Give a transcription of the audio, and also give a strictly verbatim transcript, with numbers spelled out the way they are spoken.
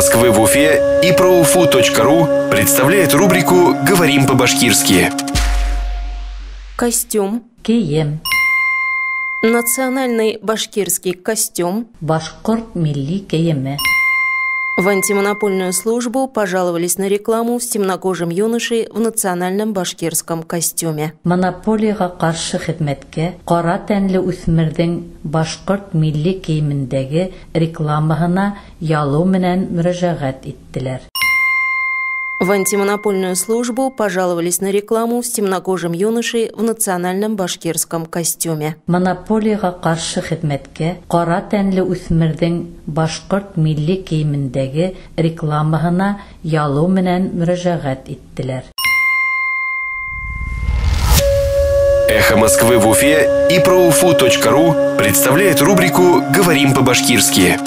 Москвы в Уфе и проуфу точка ру представляет рубрику «Говорим по-башкирски». Костюм. Кейем. Национальный башкирский костюм. Башҡорт милли кейеме. В антимонопольную службу пожаловались на рекламу с темнокожим юношей в национальном башкирском костюме. Монополияға ҡаршы хеҙмәткә ҡара тәнле үҫмерҙең башҡорт милли кейемендәге рекламаһына ялыу менән мөрәжәғәт иттеләр. В антимонопольную службу пожаловались на рекламу с темнокожим юношей в национальном башкирском костюме. Монополияға ҡаршы хеҙмәткә ҡара тәнле үҫмерҙең башҡорт милли кейемендәге рекламаһына ялыу менән мөрәжәғәт иттеләр. Эхо Москвы в Уфе и проуфу точка ру представляет рубрику «Говорим по-башкирски».